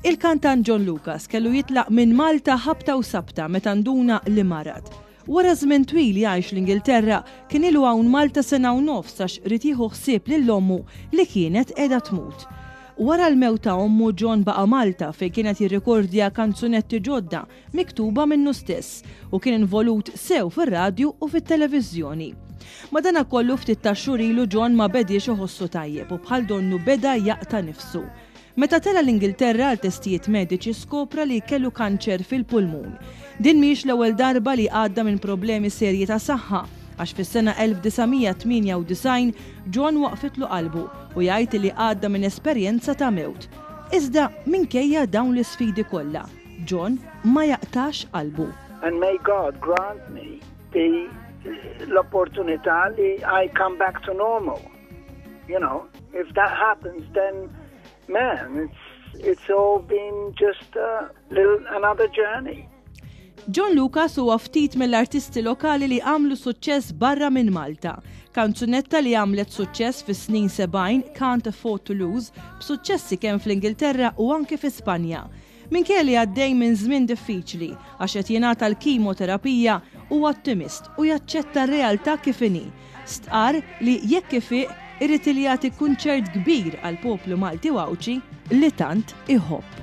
Il-kantant John Lucas kellu jitlaq minn Malta ħabta u sabta meta nduna li marad. Wara żmien twil jgħix l-Ingilterra, kien ilu hawn Malta sena u nofs għax ried jieħu ħsieb lil ommu li kienet qiegħda tmut. Wara l-mewt ta' ommu John baqa' Malta fejn kien qed jirrikordja kanzunetti ġodda miktuba minnu stess u kien involut sew fir-radju u fit-televiżjoni. Madanakollu ftit tax-xhur ilu John ma bediex iħossu tajjeb u bħal donnu beda jaqta' nifsu. Meta tela' l-Ingilterra għal testijiet mediċi skopra li kellu kanċer fil-pulmun. Din mhijiex l-ewwel darba li għadda minn problemi serji ta' saħħa, għax fis-sena 1998 John waqfitlu qalbu u jgħid li għadda minn esperjenza ta' mewt. Iżda minkejja dawn l-isfidi kollha, John ma jaqtax qalbu. And may God grant me the l-opportunità li I come back to normal. You know, if that happens, then man, it's, it's all been just a little another journey. John Lucas huwa ftit mill-artisti lokali li għamlu suċċess barra minn Malta. Kanzunetta li għamlet suċċess fis-snin 70, Can't Afford to Lose, b'suċċessi kemm fl-Ingilterra u anke fi Spanja. Minkejja li għaddej minn żmien diffiċli għax qed jingħata l-kimoterapija, huwa ottimist u jaċċetta r-realtà kif inhi. Stqarr li jekk ifiq irid li jagħti kunċert kbir għall-poplu Malti u Għawdxi li tant iħobb.